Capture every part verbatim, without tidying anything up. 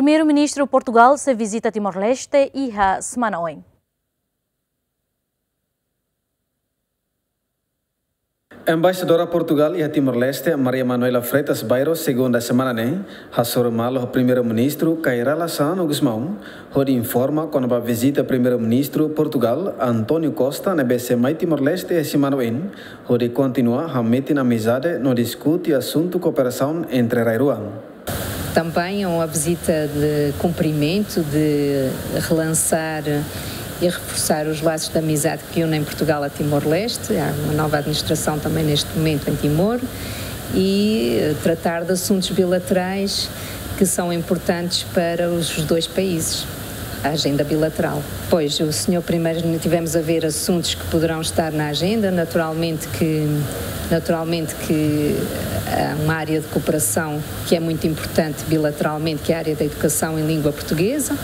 Primeiru-Ministru Portugal sei vizita Timor-Leste iha semana oin. Embaixadora Portugal iha Timor-Leste, Maria Manuela Freitas Bairo, segunda semana ne'e, hasoru malu ho Primeiru-Ministru Kay Rala Xanana Gusmão, hodi informa kona-ba vizita Primeiru-Ministru Portugal, António Costa, ne'ebé sei mai Timor-Leste iha semana oin, hodi kontinua hametin amizade no diskute asuntu kooperasaun entre rai-rua. Também é uma visita de cumprimento, de relançar e reforçar os laços de amizade que unem Portugal a Timor-Leste. Há uma nova administração também neste momento em Timor e, eh, tratar de assuntos bilaterais que são importantes para os dois países, a agenda bilateral. Pois, o senhor primeiro, tivemos a ver assuntos que poderão estar na agenda, naturalmente que, naturalmente que há uma área de cooperação que é muito importante bilateralmente, que é a área da educação em língua portuguesa,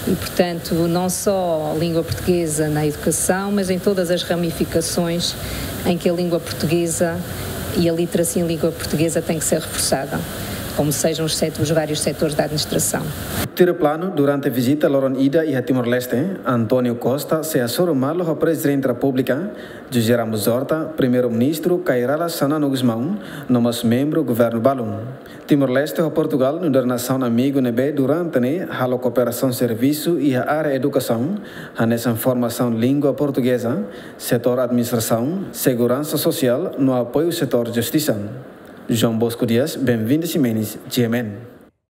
e, portanto, não só a língua portuguesa na educação, mas em todas as ramificações em que a língua portuguesa e a literacia em língua portuguesa tem que ser reforçada, como sejam os set-, os vários setores da administração. Tuir planu, durante vizita loron ida iha Timor-Leste, António Costa sei hasoru malu ho Prezidente Repúblika, José Ramos Horta, Primeiru-Ministru Kay Rala Xanana Gusmão, no mós membru governu balun. Timor-Leste ho Portugal nu'udar nasaun amigu ne'ebé durante ne'e halo kooperasaun servisu iha área edukasaun, hanesan formasaun língua portugeza, setór administrasaun, seguransa sosiál no apoiu setór justisa. João Bosco Dias, Benvinda Ximenes, G M N.